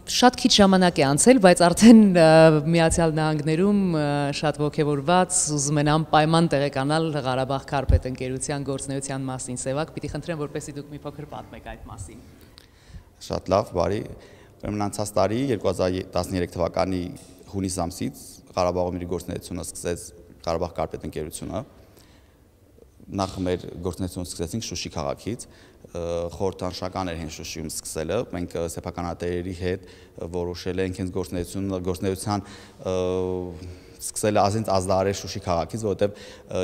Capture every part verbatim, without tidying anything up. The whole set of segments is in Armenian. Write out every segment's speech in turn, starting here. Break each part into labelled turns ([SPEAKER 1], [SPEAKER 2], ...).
[SPEAKER 1] Շատ քիչ ժամանակ է անցել, բայց արդեն Միացյալ Նահանգներում շատ ոգևորված ուզում են անպայման տեղեկանալ Ղարաբաղ Քարպետ ընկերության գործունեության մասին։ Սևակ, պիտի խնդրեմ, որպեսզի դուք մի փոքր պատմեք այդ մասին։
[SPEAKER 2] Շատ լավ, բարի։ Ուրեմն անցած տարի երկու հազար տասներեք թվականի հունիս ամսից Ղարաբաղում իր գործունեությունը սկսեց Ղարաբաղ Քարպետ ընկերությունը։ Նախ մեր գործունեությունը սկսեցինք Շուշի քաղաքից, խորհրդանշական էր հենց Շուշիում սկսելը, մենք սեփականատերերի հետ որոշել ենք հենց գործունեությունը, գործունեության սկսելը ազինց ազդարել Շուշի քաղաքից, որովհետև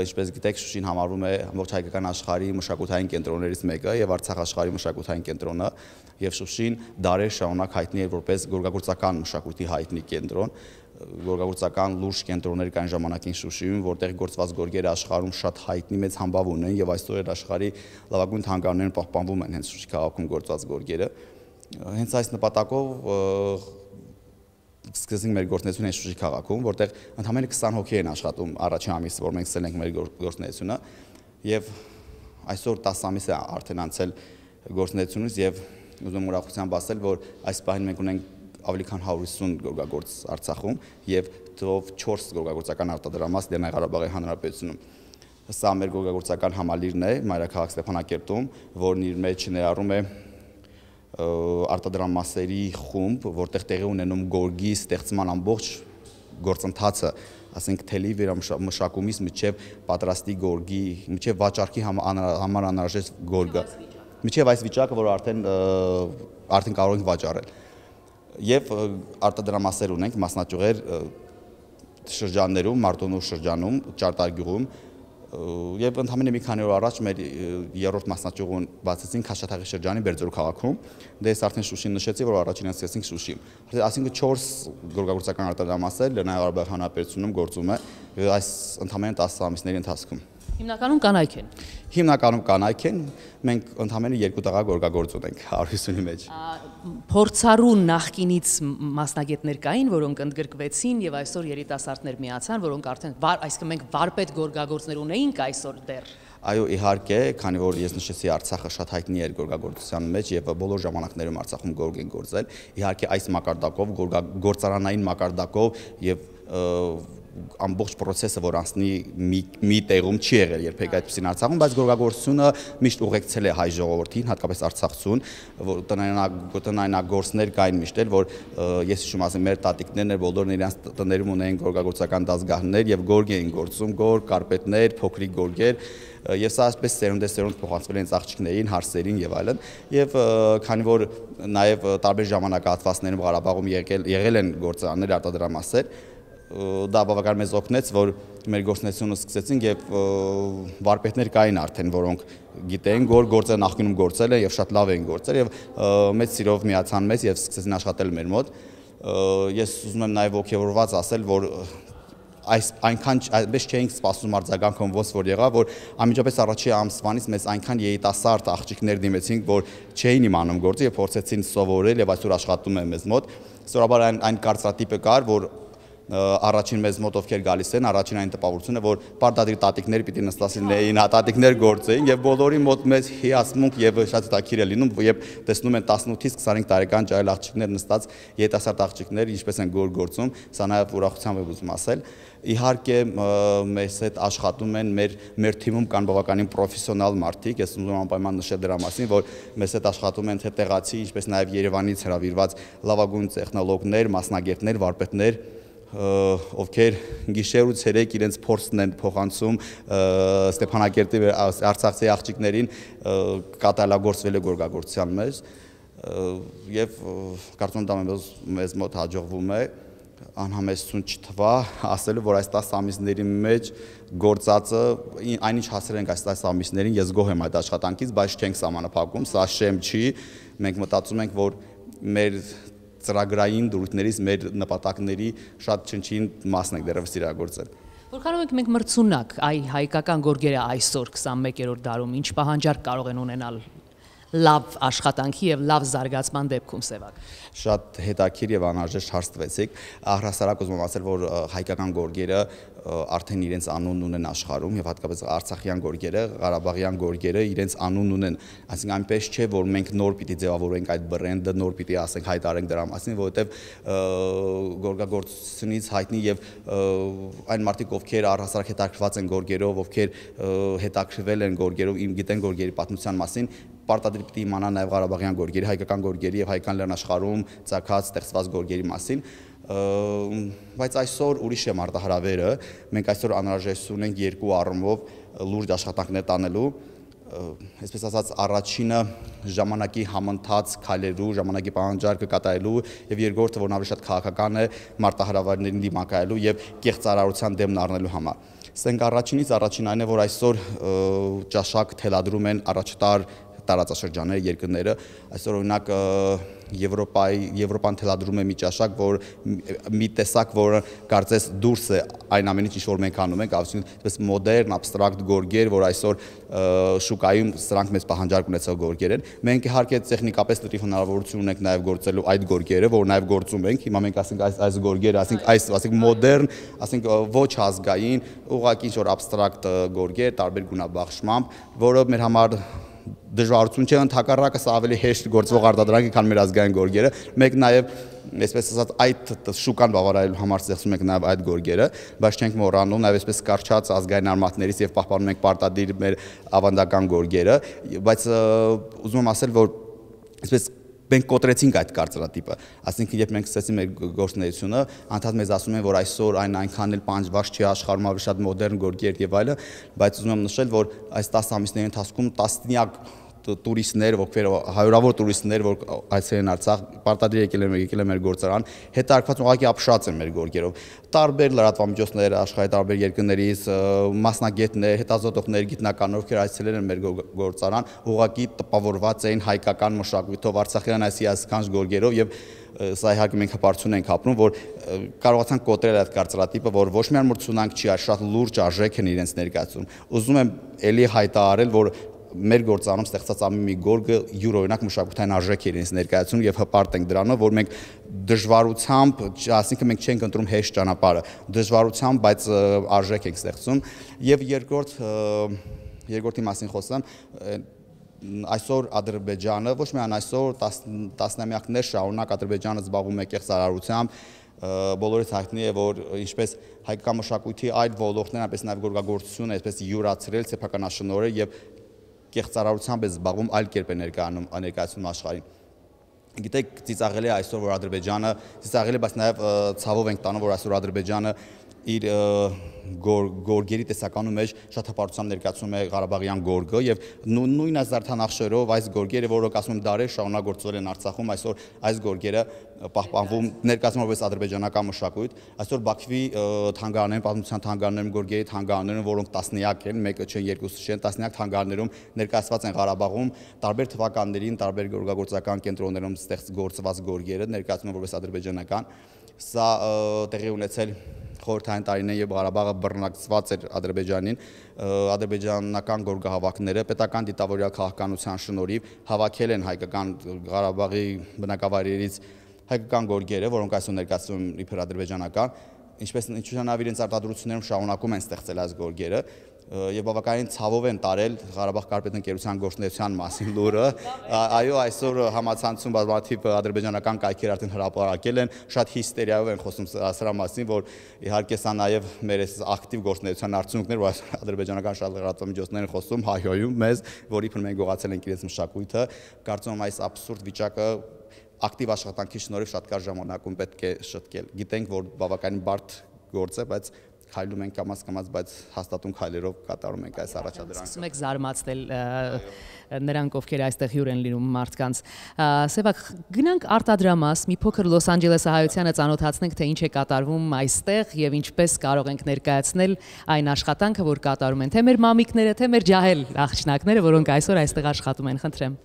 [SPEAKER 2] ինչպես գիտեք, Շուշին համարվում է ամբողջ հայկական աշխարհի մշակութային կենտրոններից մեկը եւ Արցախ աշխարհի մշակութային կենտրոնը, եւ Շուշին դարեր շարունակ հայտնի էր որպես գորգագործական մշակույթի հայտնի կենտրոն, գորգագործական լուրջ կենտրոններ կային ժամանակին Շուշիում, որտեղ գործված գորգերը աշխարհում շատ հայտնի մեծ համբավ ունեն եւ այսօր աշխարհի լավագույն թանգարաններում պահպանվում են հենց Շուշի քաղաքում գործված գորգերը։ Հենց այս նպատակով սկսեցինք մեր գործունեությունը Շուշի քաղաքում, որտեղ ընդամենը քսան հոգի են աշխատում առաջին ամիսը, որ մենք սկսել ենք մեր գործունեությունը, եւ այսօր տասը ամիս է արդեն անցել գործունեությունից եւ ուզում եմ ուրախությամբ ասել, որ այս պահին մենք ունենք ավելի քան հարյուր ութսուն գորգագործ Արցախում եւ թվով չորս գորգագործական արտադրամաս Լեռնային Ղարաբաղի Հանրապետությունում։ Սա մեր գորգագործական համալիրն է մայրաքաղաք Ստեփանակերտում, որն իր մեջ ներառում է արտադրամասերի խումբ, որտեղ տեղի ունենում գորգի ստեղծման ամբողջ գործընթացը, ասենք թելի վերամշակումից մինչև պատրաստի գորգի, մինչև վաճառքի համար անհրաժեշտ գորգը, մինչև այս վիճակը, որ արդեն արդեն կարող ենք վաճառել։ Եվ արտադրամասեր ունենք, մասնաճյուղեր շրջաններում, Մարտոնու շրջանում, Ճարտարգյուղում, եւ ընդհանրապես մի քանի օր առաջ մեր երրորդ մասնաճյուղը բացեցինք Քաշաթաղի շրջանի Բերձորու քաղաքում, դե ես արդեն Շուշին նշեցի, որ առաջինը սկսեցինք Շուշիում։ Այսինքն չորս գորգագործական արտադրամասեր Լեռնային Ղարաբաղի Հանրապետությունում գործում է այս ընդհանրապես տասը ամիսների ընթացքում։
[SPEAKER 1] Հիմնականում կանայք են։
[SPEAKER 2] Հիմնականում կանայք են, մենք ընդհանրապես երկու տղա գորգագործ ունենք հարյուր ութսունի մեջ։
[SPEAKER 1] Փորձառու նախկինից մասնագետներ կային, որոնք ընդգրկվեցին եւ այսօր երիտասարդներ միացան, որոնք արդեն այսինքն մենք վարպետ գորգագործներ ունեինք այսօր դեռ։
[SPEAKER 2] Այո, իհարկե, քանի որ ես նշեցի Արցախը շատ հայտնի էր գորգագործության մեջ եւ բոլոր ժամանակներում Արցախում գորգ են գործել, իհարկե այս մակարդակով, գործարանային մակարդակով եւ ամբողջ process-ը, որ անցնի մի տեղում չի եղել երբեք այդպեսին Արցախում, բայց գորգագործությունը միշտ ուղեկցել է հայ ժողովրդին, հատկապես Արցախցուն, որ տնայնագործներ կային միշտ էլ, որ ես հիշում ասեմ, մեր տատիկներն էր, բոլորն իրենց տներում ունեին գորգագործական դասգահներ եւ գորգ էին գործում, գորգ, կարպետներ, փոքրիկ գորգեր, եւ սա այսպես սերունդեսերունդ փոխանցվել են ծաղկիչներին, հարսերին եւ այլն, եւ քանի որ նաեւ տարբեր ժամանակահատվածներում Ղարաբաղում եղել եղել են գործարաններ, արտադրամասեր, դա բավական մեզ օգնեց, որ մեր գործունեությունը սկսեցինք եւ վարպետներ կային արդեն, որոնք գիտեին, որ գործը նախկինում գործել են եւ շատ լավ էին գործել եւ մեծ սիրով միացան մեզ եւ սկսեցին աշխատել մեր մոտ։ Ես ուզում եմ նաեւ ողջավորված ասել, որ այս այնքան այդպես չէինք սպասում արձագանքում ոնց որ եղավ, որ անմիջապես առաջի ամսվանից մեզ այնքան երիտասարդ աղջիկներ դիմեցին, որ չէին իմանում գործը եւ փորձեցին սովորել եւ այսօր աշխատում են մեզ մոտ։ Սովորաբար այն այն կարծրատիպը կար, որ առաջին մեզ մոտ ովքեր գալիս են, առաջին այն տպավորությունը, որ պարտադիր տատիկներ պիտի նստասին, տատիկներ գործեին եւ բոլորի մոտ մեծ հիացմունք եւ շատ հետաքրքիր է լինում, եւ տեսնում են տասնութից քսանհինգ տարեկան ճայել աղջիկներ նստած, երիտասարդ աղջիկներ, ինչպես են գոր գործում, սա նաեւ ուրախությամբ եմ ուզում ասել։ Իհարկե մեզ հետ աշխատում են մեր մեր թիմում կան բավականին պրոֆեսիոնալ մարդիկ, ես ուզում եմ անպայման նշել դրա մասին, որ մեզ հետ աշխատում են թե տեղացի, ինչպես նաեւ Երևանից հրավիրված լավագույն տեխնոլոգներ, մասնագետներ, վարպետներ, ովքեր գիշեր ու ցերեկ իրենց փորձն են փոխանցում Ստեփանակերտի արցախցի աղջիկներին կատարելագործվելու գորգագործության մեջ եւ կարծում եմ դա մեզ մոտ հաջողվում է անհամեստություն չթվա ասելու, որ այս տասը ամիսների մեջ գործածը այնինչ հասել ենք այս տասը ամիսներին, ես գոհ եմ այդ աշխատանքից, բայց չենք սահմանափակում, սա շեմ չի, մենք մտածում ենք, որ մեր ծրագրային դրույթներից մեր նպատակների շատ չնչին մասն ենք դեռևս իրագործել։
[SPEAKER 1] Որքանով ենք մենք մրցունակ այ հայկական գորգերը այսօր քսանմեկերորդ դարում, ինչ պահանջարկ կարող են ունենալ լավ աշխատանքի եւ լավ զարգացման դեպքում Սևակ։
[SPEAKER 2] Շատ հետաքրքիր եւ անհրաժեշտ հարց տվեցիք։ Առհասարակ ուզում եմ ասել, որ հայկական գորգերը արդեն իրենց անունն ունեն աշխարհում եւ հատկապես արցախյան գորգերը, ղարաբաղյան գորգերը իրենց անունն ունեն։ Այսինքն այնպես չէ, որ մենք նոր պիտի ձևավորենք այդ բրենդը, նոր պիտի ասենք հայտարենք դրա մասին, որովհետեւ գորգագործությունից հայտնի եւ այն մարդիկ, ովքեր առհասարակ հետաքրքրված են գորգերով, ովքեր հետաքրքրվել են գորգերով, իմ գիտեն գորգերի պատմության մասին, պարտադիր պիտի իմանան նաև ղարաբաղյան գորգերի, հայկական գորգերի եւ հայկական լեռնաշխարհում ծագած ստեղծված գորգերի մասին, բայց այսօր ուրիշ է մարտահրավերը, մենք այսօր անհրաժեշտություն ունենք երկու առումով լուրջ աշխատանքներ տանելու, այսպես ասած առաջինը ժամանակի համընթաց քայլելու, ժամանակի պահանջարկը կատարելու եւ երկրորդը, որն ավելի շատ քաղաքական է, մարտահրավերներին դիմակայելու եւ կեղծարարության դեմն առնելու համար։ Սենք առաջինից առաջին այն է, որ այսօր ճաշակ թելադրում են առաջատար տարածաշրջանները, երկրները, այսօր օրինակ Եվրոպայի Եվրոպան թելադրում է մի ճաշակ, որ մի տեսակ, որը կարծես դուրս է այն ամենից, ինչ որ մենք անում ենք, այսպես մոդեռն, աբստրակտ գորգեր, որ այսօր շուկայում սրանք մեծ պահանջարկ ունեցող գորգեր են։ Մենք իհարկե տեխնիկապես լրիվ հնարավորություն ունենք նաև գործելու այդ գորգերը, որ նաև գործում ենք։ Հիմա մենք ասենք այս այս գորգերը, ասենք այս, ասենք մոդեռն, ասենք ոչ ազգային, ուղղակի ինչ որ աբստրակտ գորգեր, տարբեր գունաբաշխմամբ, որը մեր համար դժվարություն չէ, ընդհակառակը սա ավելի հեշտ գործվող արտադրանք է, քան մեր ազգային գորգերը։ Մենք նաև, այսպես ասած, այդ շուկան բավարարելու համար ստեղծում ենք նաև այդ գորգերը, բայց չենք մոռանում նաև այսպես կարճած ազգային արմատներից եւ պահպանում ենք պարտադիր մեր ավանդական գորգերը, բայց ուզում եմ ասել, որ այսպես մենք կոտրեցինք այդ կարծրատիպը, այսինքն երբ մենք սկսեցինք մեր գործունեությունը, անդադ մեզ ասում են, որ այսօր այն այնքան էլ պահանջված չի աշխարհում, ավելի շատ մոդեռն գորգեր եւ այլը, բայց ուզում եմ նշել, որ այս տասը ամիսների ընթացքում տասնյակ տուրիստներ, ովքեր հարյուրավոր տուրիստներ, որ այցելել են Արցախ, պարտադիր եկել են եկել են մեր գործարան, հետաքրքրված ուղղակի ապշած են մեր գորգերով։ Տարբեր լրատվամիջոցներ, աշխարհի տարբեր երկրներից, մասնագետներ, հետազոտողներ, գիտնականներ, ովքեր այցելել են մեր գործարան, ուղղակի տպավորված էին հայկական մշակույթով, արցախյան այս հիասքանչ գորգերով եւ սա իհարկե մենք հպարտություն ենք ապրում, որ կարողացանք կոտրել այդ կարծրատիպը, որ ոչ միայն մրցունակ չի, այլ շատ լուրջ արժեք են իրենց ներկայացում։ Ուզում եմ ելի հայտարարել, որ մեր գործանում ստեղծած ամեն մի գորգը յուրօրինակ մշակութային արժեք է իրենց ներկայացնում եւ հպարտ ենք դրանով, որ մենք դժվարությամբ, այսինքն մենք չենք ընտրում հեշտ ճանապարհը, դժվարությամբ, բայց արժեք ենք ստեղծում եւ երկրորդ երկրորդի մասին խոսեմ, այսօր Ադրբեջանը, ոչ միայն այսօր, տասնամյակներ շարունակ Ադրբեջանը զբաղվում է կեղծարարությամբ, բոլորից հայտնի է, որ ինչպես հայկական մշակույթի այլ ոլորտներ, այնպես նաև գորգագործությունը, այսպես յուրացրել սեփականաշնորհը եւ կեղծարարությամբ է զբաղվում, այլ կերպ է ներկայացնում աշխարհին։ Գիտեք, ծիծաղելի է այսօր, որ Ադրբեջանը, ծիծաղելի է, բայց նաև ցավով ենք տանում, որ այսօր Ադրբեջանը իր գորգերի տեսականում մեջ շատ հպարտությամբ ներկայացնում է ղարաբաղյան գորգը եւ նույն զարդանախշերով այս գորգերը, որոնք ասում եմ դարեր շարունակ գործել են Արցախում, այսօր այս գորգերը պահպանվում, ներկայացվում որպես ադրբեջանական մշակույթ, այսօր Բաքվի թանգարաններում, պատմության թանգարաններում գորգերի թանգարաններում, որոնք տասնյակ են, մեկը չեն, երկուսը չեն, տասնյակ թանգարաններում ներկայացված են Ղարաբաղում, տարբեր թվականներին, տարբեր գորգագործական կենտրոններում ստեղծված գորգերը ներկայացվում են որպես ադրբեջանական, սա տեղի ունեցել խորհրդային տարիներին, երբ Ղարաբաղը բռնակցված էր Ադրբեջանին, ադրբեջանական գորգահավաքները պետական դիտավորյալ քաղաքականության շնորհիվ հավաքել են հայկական Ղարաբաղի բնակավայրերից հայկական գորգերը, որոնք այսօր ներկայացվում են իբր ադրբեջանական, ինչպես ինչուշանավ իրենց արտադրություններում շարունակում են ստեղծել այս գորգերը եւ բավականին ցավով են տարել Ղարաբաղ կարպետընկերության գործունեության մասին լուրը, այո, այսօր համացանցում բազմաթիվ ադրբեջանական կայքեր արդեն հրապարակել են, շատ հիստերիայով են խոսում սրա մասին, որ իհարկե սա նաեւ մեր այս ակտիվ գործունեության արդյունքներ, որ ադրբեջանական շատ լրատվամիջոցներ են խոսում, հայհոյում մեզ, որ իբր մենք գողացել ենք իրենց մշակույթը, կարծում եմ այս աբսուրդ վիճակը ակտիվ աշխատանքի շնորհիվ շատ կարճ ժամանակում պետք է շտկել։ Գիտենք, որ բավականին բարդ գործ է, բայց քայլում ենք կամաց կամաց, բայց հաստատուն քայլերով կատարում ենք այս առաջադրանքը։
[SPEAKER 1] Սկսում եք զարմացնել նրանք, ովքեր այստեղ հյուր են լինում մարդկանց։ Սևակ, գնանք արտադրամաս, մի փոքր Լոս Անջելեսահայությանը ծանոթացնենք, թե ինչ է կատարվում այստեղ եւ ինչպես կարող ենք ներկայացնել այն աշխատանքը, որ կատարում են թե մեր մամիկները, թե մեր ջահել աղջնակները, որոնք այսօր այստեղ աշխատում են, խնդրեմ։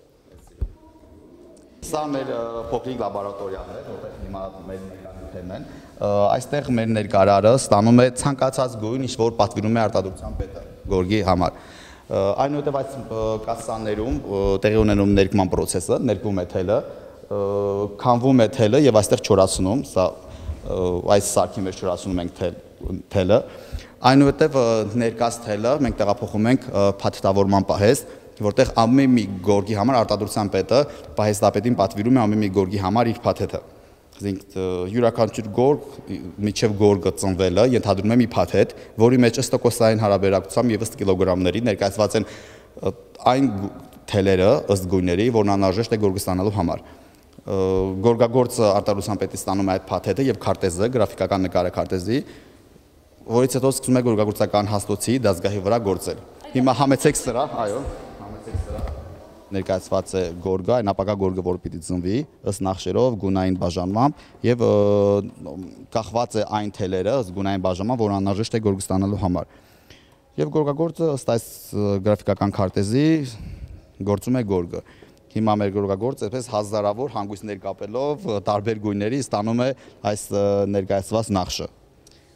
[SPEAKER 2] Սա մեր փոքրիկ լաբորատորիան է, որտեղ հիմա մեր ներկայացնեն են։ Այստեղ մեր ներկարարը ստանում է ցանկացած գույն, ինչ որ պատվիրում է արտադրության պետը գորգի համար։ Այնուհետև այս կասսաներում տեղի ունենում ներկման process-ը, ներկվում է թելը, քանվում է թելը եւ այստեղ չորացնում, սա այս սարքի մեջ չորացնում ենք թելը։ Այնուհետև ներկած թելը մենք տեղափոխում ենք փաթեթավորման պահեստ, որտեղ ամեն մի գորգի համար արտադրության պետը պահեստապետին պատվիրում է ամեն մի գորգի համար իր փաթեթը։ Այսինքն յուրաքանչյուր գորգ միջև գորգը ծնվելը ենթադրում է մի փաթեթ, որի մեջ ըստ տոկոսային հարաբերակցությամբ եւ ըստ կիլոգրամների ներկայացված են այն թելերը ըստ գույների, որն անհրաժեշտ է գորգը ստանալու համար։ Գորգագործը արտադրության պետից ստանում է այդ փաթեթը եւ քարտեզը, գրաֆիկական նկարը քարտեզի, որից հետո սկսում է գորգագործական հաստոցի դասգահի վրա գործել։ Հիմա համեցեք սրա, այո, համեցեք սրա։ Ներկայացված է գորգը, այն ապակա գորգը, որ պիտի ծնվի, ըստ նախշերով, գունային բաժանմամբ եւ կախված է այն թելերը ըստ գունային բաժանման, որ անհրաժեշտ է գորգը ստանալու համար։ Եվ գորգագործը ըստ այս գրաֆիկական քարտեզի գործում է գորգը։ Հիմա մեր գորգագործը այսպես հազարավոր հանգույցներ կապելով տարբեր գույների ստանում է այս ներկայացված նախշը։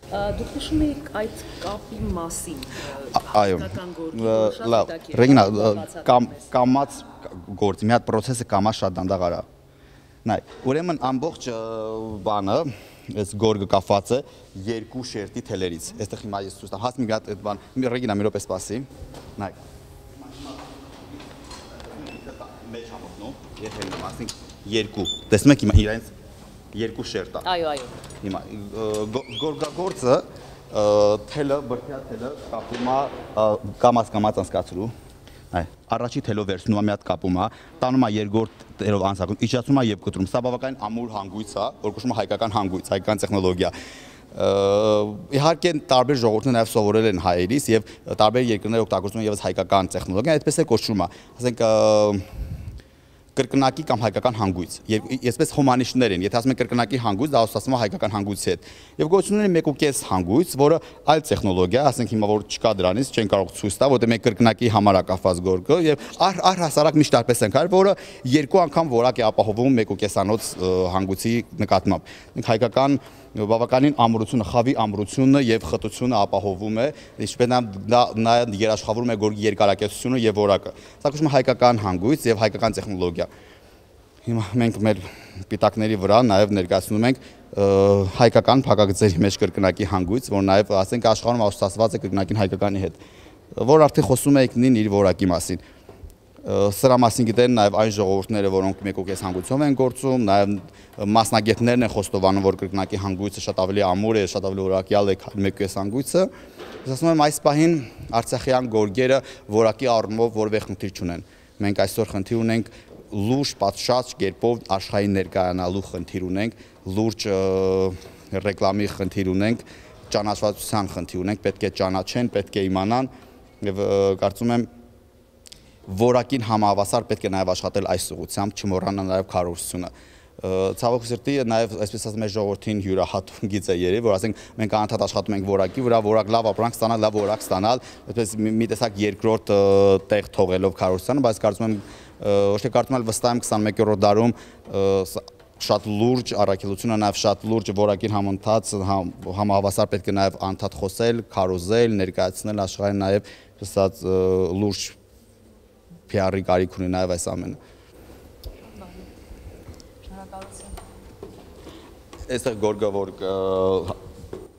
[SPEAKER 3] Դուք նշում եք այդ կապի մասին։
[SPEAKER 2] Այո, լավ, Ռեգինա, կամած գործի մի հատ process-ը կամած շատ դանդաղ արա։ Նայ, ուրեմն ամբողջ բանը, այս գորգը կապված է երկու շերտի թելերից։ Այստեղ հիմա ես ցույց տամ, հաս մի հատ այդ բան, Ռեգինա, մի րոպե սպասի։ Նայ։ Մեջ համոզնում, եթե ասենք երկու։ Տեսնում եք հիմա իրենց երկու շերտ է։
[SPEAKER 3] Այո, այո։
[SPEAKER 2] Հիմա գորգագործը թելը, բրդյա թելը կապում է կամած-կամած անցկացրու։ Այ, առաջի թելով վերցնում է մի հատ կապում է, տանում է երկրորդ թելով անցակում, իջացնում է եւ կտրում։ Սա բավականին ամուր հանգույց է, որ կոչվում է հայկական հանգույց, հայկական տեխնոլոգիա։ Իհարկե տարբեր ժողովուրդներ նաև սովորել են հայերից եւ տարբեր երկրներ օգտագործում են եւս հայկական տեխնոլոգիա, այդպես է կոչվում է։ Ասենք կրկնակի կամ հայկական հանգույց։ Եվ այսպես հոմանիշներ են, եթե ասում են կրկնակի հանգույց, դա ասում է հայկական հանգույցի հետ։ Եվ գոյություն ունի մեկ ու կես հանգույց, որը այլ տեխնոլոգիա, ասենք հիմա որ չկա դրանից, չեն կարող ցույց տալ, որտեղ մենք կրկնակի համար է կապված գորգը եւ առհասարակ միշտ տարպես ենք արել, որը երկու անգամ որակ է ապահովում մեկ ու կեսանոց հանգույցի նկատմամբ։ Հայկական բավականին ամրությունը, խավի ամրությունը եւ խտությունը ապահովում է, ինչպես նաեւ երաշխավորում է գորգի երկարակեցությունը եւ որակը։ Սա կոչվում է հայկական հանգույց եւ հայկական տեխնոլոգիա։ Հիմա մենք մեր պիտակների վրա նաեւ ներկայացնում ենք հայկական փակագծերի մեջ կրկնակի հանգույց, որ նաեւ ասենք աշխարհում ասոցացված է կրկնակին հայկականի հետ, որ արդեն խոսում է ինքնին իր որակի մասին։ Սրա մասին գիտեն նաև այն ժողովուրդները, որոնք մեկ ու կես հանգույցով են գործում, նաև մասնագետներն են խոստովանում, որ կրկնակի հանգույցը շատ ավելի ամուր է, շատ ավելի որակյալ է, քան մեկ ու կես հանգույցը։ Ես ասում եմ, այս պահին արցախյան գորգերը որակի առումով որևէ խնդիր չունեն։ Մենք այսօր խնդիր ունենք լուրջ պատշաճ կերպով աշխարհին ներկայանալու խնդիր ունենք, լուրջ ռեկլամի խնդիր ունենք, ճանաչվածության խնդիր ունենք, պետք է ճանաչեն, պետք է իմանան եւ կարծում եմ որակին համահավասար պետք է նաև աշխատել այս ուղղությամբ, չմոռանալ նաև քարոզությունը։ Ցավոք սրտի նաև այսպես ասեմ մեր ժողովրդին յուրահատուկ գիծ է երևի, որ ասենք մենք անընդհատ աշխատում ենք որակի վրա, որակ լավ ապրանք ստանալ, լավ որակ ստանալ, այսպես մի տեսակ երկրորդ տեղ թողելով քարոզությանը, բայց կարծում եմ ոչ թե կարծում եմ վստահ եմ քսանմեկերորդ դարում շատ լուրջ առաքելությունը, նաև շատ լուրջ որակին համընթաց համահավասար պետք է նաև անընդհատ խոսել, քարոզել, ներկայացնել աշխարհին նաև ասած լուրջ P R-ի կարիք ունի նաև այս ամենը։
[SPEAKER 3] Շնորհակալություն։
[SPEAKER 2] Այստեղ գորգը որ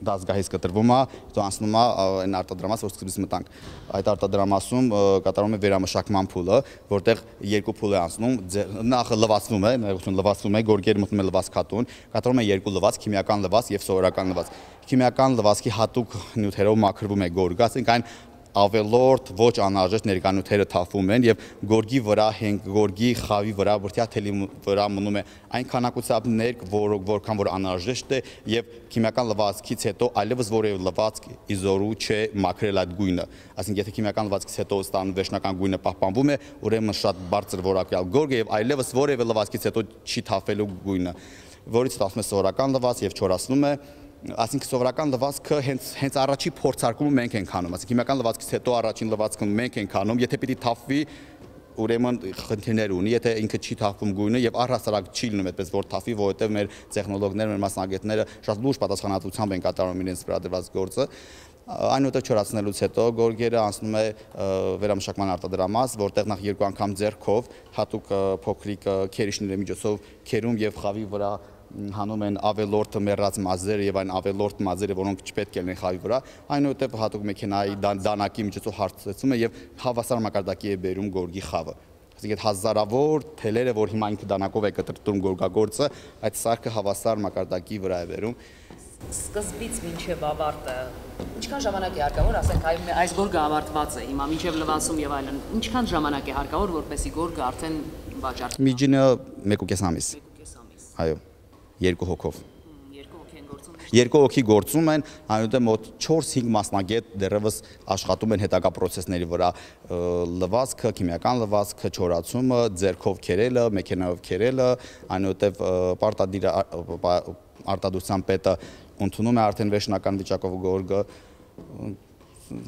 [SPEAKER 2] դասգահից կտրվում է, հետո անցնում է այն արտադրամաս, որ սկզբից մտանք։ Այդ արտադրամասում կատարվում է վերամշակման փուլը, որտեղ երկու փուլ է անցնում, նախ լվացվում է, ներողություն լվացվում է, գորգերը մտնում է լվացքատուն, կատարվում է երկու լվացք, քիմիական լվացք եւ սովորական լվացք։ Քիմիական լվացքի հատուկ նյութերով մաքրվում է գորգը, ասենք այն ավելորդ ոչ անհրաժեշտ ներկանյութերը թափվում են եւ գորգի վրա հենք գորգի խավի վրա բրդյա թելի վրա մնում է այն քանակությամբ ներք, որ որքան որ անհրաժեշտ է եւ քիմիական լվացքից հետո այլևս որևէ լվացք իզորու չէ մաքրել այդ գույնը, այսինքն եթե քիմիական լվացքից հետո ստանում վերջնական գույնը պահպանվում է, ուրեմն շատ բարձր որակյալ գորգ է եւ այլևս որևէ լվացքից հետո չի թափվելու գույնը, որից ստացվում է սովորական լվացք եւ չորացնում է Այսինքն սովորական լվացքը հենց հենց առաջի փորձարկումը մենք ենք անում, այսինքն հիմնական լվացքից հետո առաջին լվացքը մենք ենք անում, եթե պիտի թափվի ուրեմն խնդիրներ ունի, եթե ինքը չի թափվում գույնը եւ առհասարակ չի լինում այդպես որ թափի, որովհետեւ մեր տեխնոլոգները, մեր մասնագետները շատ լուրջ պատասխանատվությամբ են կատարում իրենց վրա դրված գործը։ Այնուհետև չորացնելուց հետո գորգերը անցնում է վերամշակման արտադրամաս, որտեղ նախ երկու անգամ ձեռքով հատուկ փոքրիկ քերիչների միջոցով քերում եւ խավի վրա հանում են ավելորդ մեռած մազերը եւ այն ավելորդ մազերը, որոնք չպետք է լինեն խավի վրա, այնուհետև հատուկ մեքենայի դանակի միջոցով հարցեցում է եւ հավասար մակարդակի է բերում գորգի խավը։ Այսինքն այդ հազարավոր թելերը, որ հիմա ինքը դանակով է կտրտում գորգագործը, այդ սարքը հավասար մակարդակի վրա է բերում։
[SPEAKER 1] Սկզբից մինչև ավարտը ինչքան ժամանակ է հարկավոր, ասենք այս գորգը ավարտված է հիմա մինչև լվացում եւ այլն, ինչքան ժամանակ է հարկավոր, որպեսզի գորգը արդեն վաճառվի։
[SPEAKER 2] Միջինը մեկ ու կես ամիս։ Այո, երկու հոգով։ Երկու հոգի գործում են, այնուհետև մոտ չորս-հինգ մասնագետ դեռևս աշխատում են հետագա պրոցեսների վրա, լվացքը, քիմիական լվացքը, չորացումը, ձեռքով քերելը, մեքենայով քերելը, այնուհետև պարտադիր արտադրության պետը ընդունում է արդեն վերջնական վիճակով գորգը,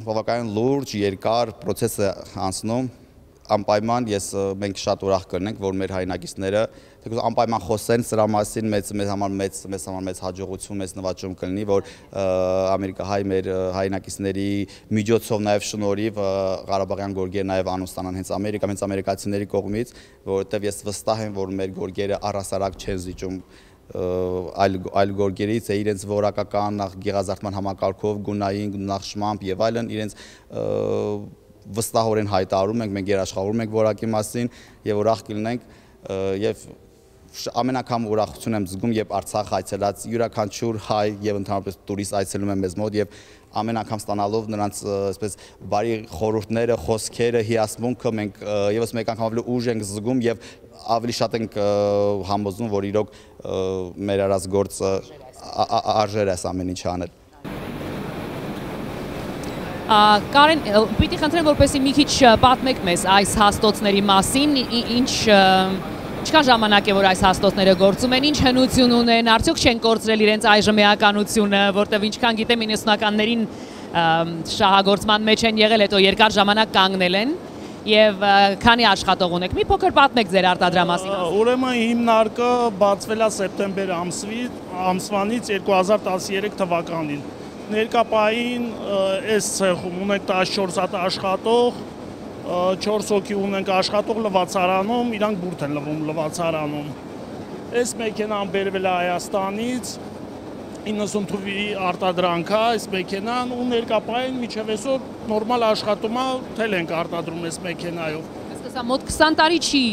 [SPEAKER 2] բավականին լուրջ, երկար պրոցես է անցնում, անպայման ես մենք շատ ուրախ կլինենք, որ մեր հայրենակիցները թեկուզ անպայման խոսեն սրա մասին, մեծ մեզ համար մեծ մեզ համար մեծ հաջողություն, մեծ նվաճում կլինի, որ ամերիկահայ մեր հայրենակիցների միջոցով նաև շնորհիվ Ղարաբաղյան գորգերը նաև անուն ստանան հենց Ամերիկա, հենց ամերիկացիների կողմից, որովհետև ես վստահ եմ, որ մեր գորգերը առհասարակ չեն զիջում այլ այլ գորգերից է իրենց որակական նախ գեղազարդման համակարգով, գունային նախշմամբ եւ այլն իրենց վստահորեն հայտարարում ենք, մենք երաշխավորում ենք որակի մասին եւ ուրախ կլինենք եւ ամեն անգամ ուրախություն եմ զգում, երբ Արցախ այցելած յուրաքանչյուր հայ եւ ընդհանրապես տուրիստ այցելում է մեզ մոտ եւ ամեն անգամ ստանալով նրանց այսպես բարի խորհուրդները, խոսքերը, հիասմունքը մենք եւս մեկ անգամ ավելի ուժ ենք զգում եւ ավելի շատ ենք համոզում, որ իրոք մեր արած գործը արժեր է ամեն ինչ անել։
[SPEAKER 1] Կարեն, պիտի խնդրեմ, որպեսզի մի քիչ պատմեք մեզ այս հաստոցների մասին, ինչ ինչքան ժամանակ է, որ այս հաստոցները գործում են, ինչ հնություն ունեն, արդյոք չեն կորցրել իրենց այժմ էականությունը, որտեղ ինչքան գիտեմ իննսունականներին շահագործման մեջ են եղել, հետո երկար ժամանակ կանգնել են եւ քանի աշխատող ունեք։ Մի փոքր պատմեք ձեր արտադրամասի մասին։
[SPEAKER 4] Ուրեմն հիմնարկը բացվել է սեպտեմբեր ամսվանից երկու հազար տասներեք թվականին։ Ներկապային այս ցեխում ունենք տասնչորս հատ աշխատող, չորս հոգի ունենք աշխատող լվացարանում, իրանք բուրդ են լվում լվացարանում։ Այս մեքենան բերվել է Հայաստանից, իննսուն թվի արտադրանք է այս մեքենան ու ներկապային միջև այսօր նորմալ աշխատում է, թել ենք արտադրում այս մեքենայով։
[SPEAKER 1] Այսպես մոտ քսան տարի չի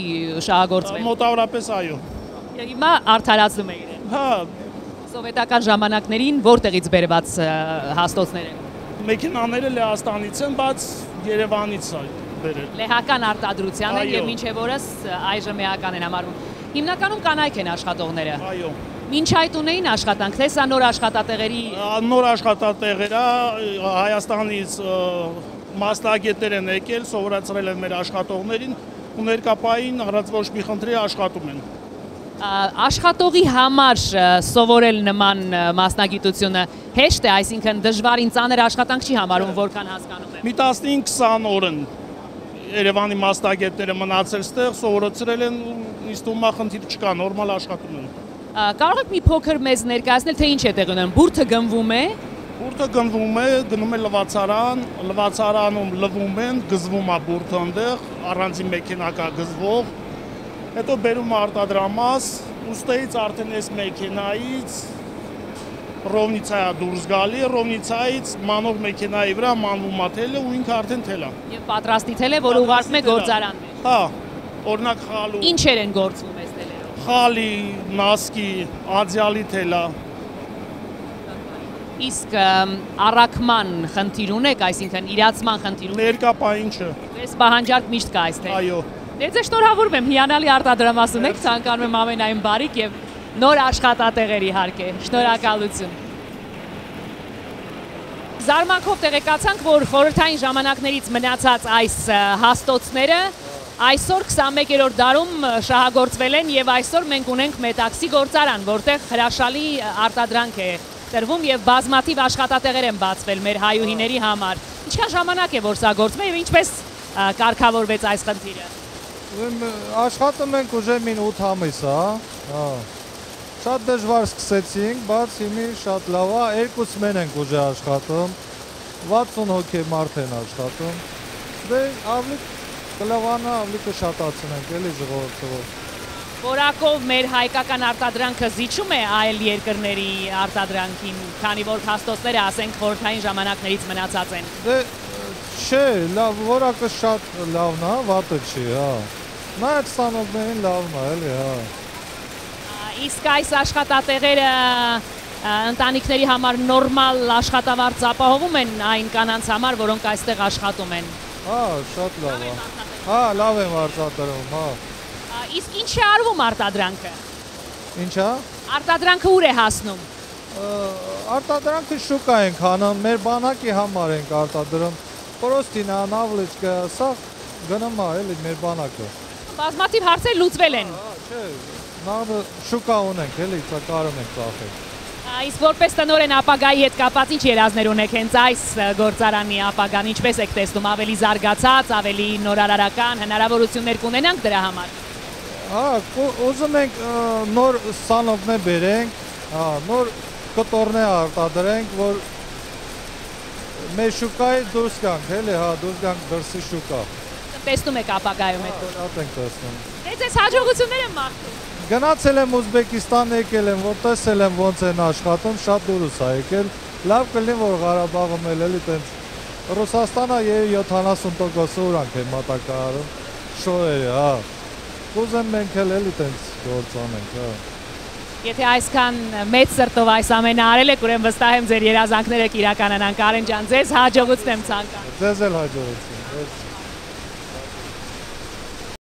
[SPEAKER 1] շահագործվել։
[SPEAKER 4] Մոտավորապես այո։
[SPEAKER 1] Հիմա արդարացնում է իրեն։
[SPEAKER 4] Հա,
[SPEAKER 1] Սովետական ժամանակներին որտեղից բերված հաստոցներ են։
[SPEAKER 4] Մեքենաները Լեհաստանից են, բայց Երևանից է բերել։
[SPEAKER 1] Լեհական արտադրության են եւ մինչեւ օրս այժմ էական են համարվում։ Հիմնականում կանայք են աշխատողները։
[SPEAKER 4] Այո։
[SPEAKER 1] Մինչ այդ ունեին աշխատանք, թե սա նոր աշխատատեղերի։
[SPEAKER 4] Նոր աշխատատեղեր է, Հայաստանից մասնագետներ են եկել, սովորացրել են մեր աշխատողներին ու ներկապային առանց ոչ մի խնդրի աշխատում են։
[SPEAKER 1] Աշխատողի համար սովորել նման մասնագիտությունը հեշտ է, այսինքն դժվարին ծանր աշխատանք չի համարում, որքան հասկանում եմ։
[SPEAKER 4] Մի տասնհինգ քսան օր են Երևանի մասնագետները մնացել ստեղ, սովորացրել են, ինձ թվում է խնդիր չկա, նորմալ աշխատում են։
[SPEAKER 1] Կարող եք մի փոքր մեզ ներկայացնել, թե ինչ է տեղի ունենում։ Բուրդը գնվում է։
[SPEAKER 4] Բուրդը գնվում է, գնում է լվացարան, լվացարանում լվում են, գզվում է բուրդը այնտեղ, առանձին մեքենա կա գզվող։ Հետո բերում արտադրամաս, ուստեից արդեն այս մեքենայից ռովնիցա է դուրս գալի, ռովնիցայից մանող մեքենայի վրա մանվում է թելը ու ինքը արդեն թել է։
[SPEAKER 1] Եվ պատրաստի թել է, որ ուղարկվում է գործարաններ։
[SPEAKER 4] Հա, օրինակ խալու։
[SPEAKER 1] Ինչեր են գործվում այս թելերով։
[SPEAKER 4] Խալի, նասկի, ադյալի թելա։
[SPEAKER 1] Իսկ առաքման խնդիր ունեք, այսինքն իրացման խնդիր ունեք։
[SPEAKER 4] Ներկապային չէ։
[SPEAKER 1] Այս պահանջարկ միշտ կա այստեղ։
[SPEAKER 4] Այո։
[SPEAKER 1] Ձեզ շնորհավորում եմ, հիանալի արտադրամաս ունեք, ցանկանում եմ ամենայն բարիք եւ նոր աշխատատեղեր իհարկե։ Շնորհակալություն։ Զարմանքով տեղեկացանք, որ խորհրդային ժամանակներից մնացած այս հաստոցները այսօր քսանմեկերորդ դարում շահագործվել են եւ այսօր մենք ունենք Մետաքսի գործարան, որտեղ հրաշալի արտադրանք է տրվում եւ բազմաթիվ աշխատատեղեր են բացվել մեր հայուհիների համար։ Ինչքան ժամանակ է որ սա գործում է եւ ինչպես կարգավորվեց այս խնդիրը։
[SPEAKER 5] Աշխատում ենք ուժե մին ութ ամիս, հա։ Շատ դժվար սկսեցինք, բայց հիմի շատ լավ է, երկուս մեն ենք ուժե աշխատում, վաթսուն հոգի մարդ են աշխատում, դե ավելի կլավանա, ավելի կշատացնենք, էլի ժողովրդով։
[SPEAKER 6] Որակով մեր հայկական արտադրանքը զիջում է այլ երկրների արտադրանքին, քանի որ փաստոցները ասենք խորհրդային ժամանակներից մնացած են։
[SPEAKER 5] Դե չէ, լավ, որակը շատ լավն է, վատը չի, հա։ Նայած ստանողներին լավն է, էլի, հա։
[SPEAKER 6] Իսկ այս աշխատատեղերը ընտանիքների համար նորմալ աշխատավարձ ապահովում են այն կանանց համար, որոնք այստեղ աշխատում են։
[SPEAKER 5] Հա, շատ լավ է։ Հա, լավ եմ արտադրում, հա։
[SPEAKER 6] Իսկ ինչ է արվում արտադրանքը։
[SPEAKER 5] Ինչա։
[SPEAKER 6] Արտադրանքը ուր է հասնում։
[SPEAKER 5] Արտադրանքը շուկա ենք հանում, մեր բանակի համար ենք արտադրում։ Պրոստինա, նավլիչկա, սա գնում է էլի մեր բանակը։
[SPEAKER 6] Բազմաթիվ հարցեր լուծվել են։
[SPEAKER 5] Հա, չէ, նավը շուկա ունենք, էլի, սա կարում ենք ծախել։
[SPEAKER 6] Իսկ որպես տնօրեն ապագայի հետ կապված ինչ երազներ ունեք հենց այս գործարանի ապագան, ինչպես եք տեսնում, ավելի զարգացած, ավելի նորարարական հնարավորություններ կունենանք դրա համար։
[SPEAKER 5] Հա, ուզում ենք նոր սանողներ բերենք, հա, նոր կտորներ արտադրենք, որ մեր շուկայի դուրս գանք, էլի, հա, դուրս գանք դրսի շուկա։
[SPEAKER 6] Տեսնում եք ապագայում այդ գործը։
[SPEAKER 5] Շատ ենք տեսնում։
[SPEAKER 6] Դե ձեզ հաջողություններ եմ մաղթում։
[SPEAKER 5] Գնացել եմ Ուզբեկիստան, եկել եմ, որ տեսել եմ ոնց են աշխատում, շատ դուրս է եկել։ Լավ կլինի, որ Ղարաբաղում էլ էլի տենց Ռուսաստանը յոթանասուն տոկոս ուրանք է մատակարարում, շոյերը, հա։ Ուզեմ մենք էլ էլի տենց գործ անենք, հա։
[SPEAKER 6] Եթե այսքան մեծ սրտով այս ամենը արել եք, ուրեմն վստահ եմ ձեր երազանքները կիրականանան։ Կարեն ջան, ձեզ հաջողություն եմ ցանկանում։
[SPEAKER 5] Ձեզ էլ հաջողություն։